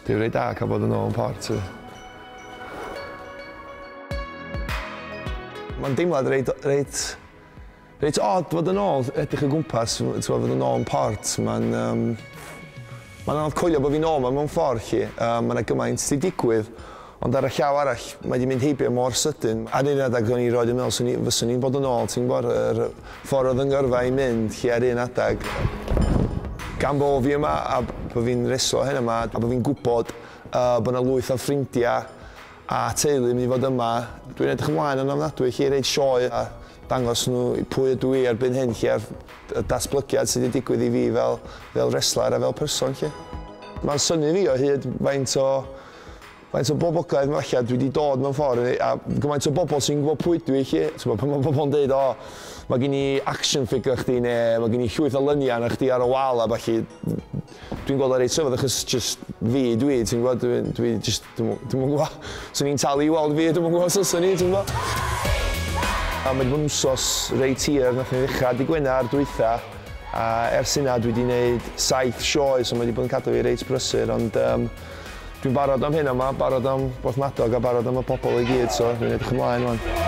Dwi'n reit da cael bod yn ôl yn Port. Mae'n deimlad reit odd fod yn ôl, edrych o gwmpas, fod yn ôl yn Port. Mae'n anodd coelio bod fi'n ôl 'ma mewn ffordd, 'lly. Mae 'na gymaint 'di digwydd, ond ar y llaw arall, mae 'di mynd heibio mor sydyn. Ar un adeg o'n i roed yn meddwl fyswn i'n bod yn ôl, ti'n gwybod, yr ffordd oedd 'y ngyrfa i'n mynd, 'lly, ar un adeg. Gan bo fi yma a bod fi'n reslo hyn yma a bod fi'n gwybod bod 'na lwyth o ffrindiau a teulu yn mynd i fod yma, dwi'n edrych ymlaen yn ofnadwy, 'lly, i roid sioe a dangos nhw pwy ydw i erbyn hyn, 'lly, a'r datblygiad sydd wedi digwydd i fi fel wrestler a fel person, 'lly. Mae'n synnu fi o hyd faint o boblogaeth falle dwi wedi dod mewn ffordd a gymaint o bobl sy'n gwybod pwy dwi, 'lly. Ti'n pan mae pobl yn dweud, "O, mae gen i action figure chdi," neu "Mae gen i llwyth o luniau na chdi ar y wal" a falle, dwi'n gweld o reit rhyfedd achos just fi dwi, ti'n gwybod, dwi just, dwi'n gwybod, swn i'n talu i weld fi, dwi'n gwybod os o'n i, ti'n gwybod. A mae wedi bod yn wsos reit hir, nath ni ddechrau dy Gwener dwytha, a ers hynna dwi wedi gwneud 7 sioe, so mae wedi bod yn cadw fi reit brysur, ond dwi'n barod am hyn yma, barod am Borthmadog a barod am y pobl i gyd, so dwi'n edrych ymlaen wan.